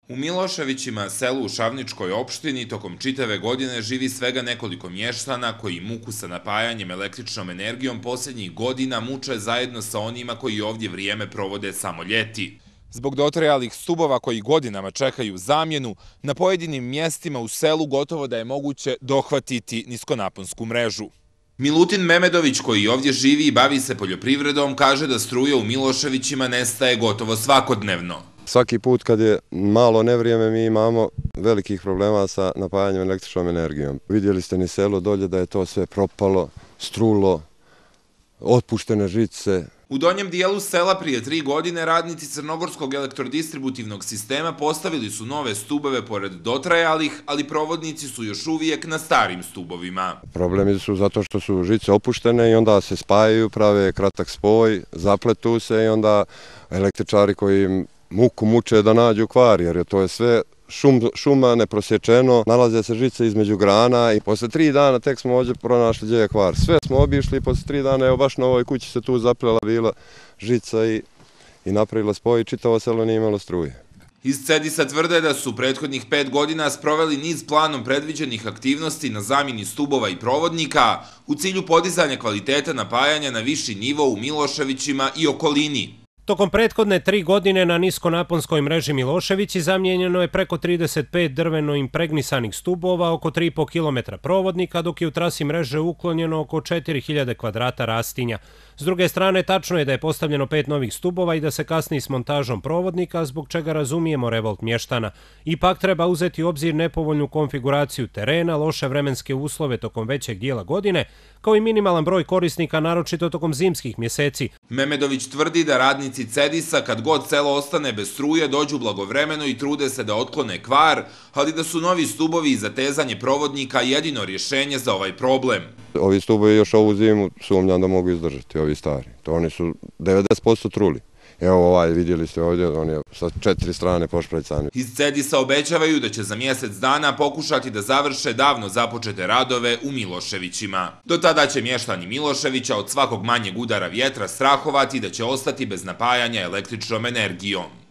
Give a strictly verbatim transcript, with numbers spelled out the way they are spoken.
U Miloševićima, selu u Šavničkoj opštini, tokom čitave godine živi svega nekoliko mještana koji muku sa napajanjem električnom energijom posljednjih godina muče zajedno sa onima koji ovdje vrijeme provode samo ljeti. Zbog dotrajalih stubova koji godinama čekaju zamjenu, na pojedinim mjestima u selu gotovo da je moguće dohvatiti niskonaponsku mrežu. Milutin Memedović, koji ovdje živi i bavi se poljoprivredom, kaže da struje u Miloševićima nestaje gotovo svakodnevno. Svaki put kad je malo nevrijeme mi imamo velikih problema sa napajanjem električnom energijom. Vidjeli ste ni selo dolje da je to sve propalo, strulo, otpuštene žice. U donjem dijelu sela prije tri godine radnici Crnogorskog elektrodistributivnog sistema postavili su nove stubove pored dotrajalih, ali provodnici su još uvijek na starim stubovima. Problemi su zato što su žice opuštene i onda se spajaju, prave kratak spoj, zapletu se i onda električari koji muku muče da nađu kvar, jer to je sve šum, šuma neprosječeno, nalaze se žice između grana i posle tri dana tek smo ovdje pronašli gdje je kvar. Sve smo obišli i posle tri dana, evo baš na ovoj kući se tu zaplela bila žica i, i napravila spoj i čitavo selo nije imalo struje. Iz Cedisa tvrde da su prethodnih pet godina sproveli niz planom predviđenih aktivnosti na zamjeni stubova i provodnika u cilju podizanja kvaliteta napajanja na viši nivo u Miloševićima i okolini. Tokom prethodne tri godine na niskonaponskoj mreži Miloševići zamijenjeno je preko trideset pet drveno impregnisanih stubova, oko tri i po kilometra provodnika, dok je u trasi mreže uklonjeno oko četiri hiljade kvadrata rastinja. S druge strane, tačno je da je postavljeno pet novih stubova i da se kasni s montažom provodnika, zbog čega razumijemo revolt mještana. Ipak treba uzeti u obzir nepovoljnu konfiguraciju terena, loše vremenske uslove tokom većeg dijela godine, kao i minimalan broj korisnika, naročito tokom zimskih mjeseci. Memedović tvrdi da radnici Cedisa, kad god selo ostane bez struje, dođu blagovremeno i trude se da otklone kvar, ali da su novi stubovi i zatezanje provodnika jedino rješenje za ovaj problem. Ovi stubovi još ovu zimu sumnjam da mogu izdržati, ovi stari. To oni su devedeset posto truli. Evo ovaj, vidjeli ste ovdje, on je sa četiri strane pošprajcani. Iz Cedisa obećavaju da će za mjesec dana pokušati da završe davno započete radove u Miloševićima. Do tada će mještani Miloševića od svakog manjeg udara vjetra strahovati da će ostati bez napajanja električnom energijom.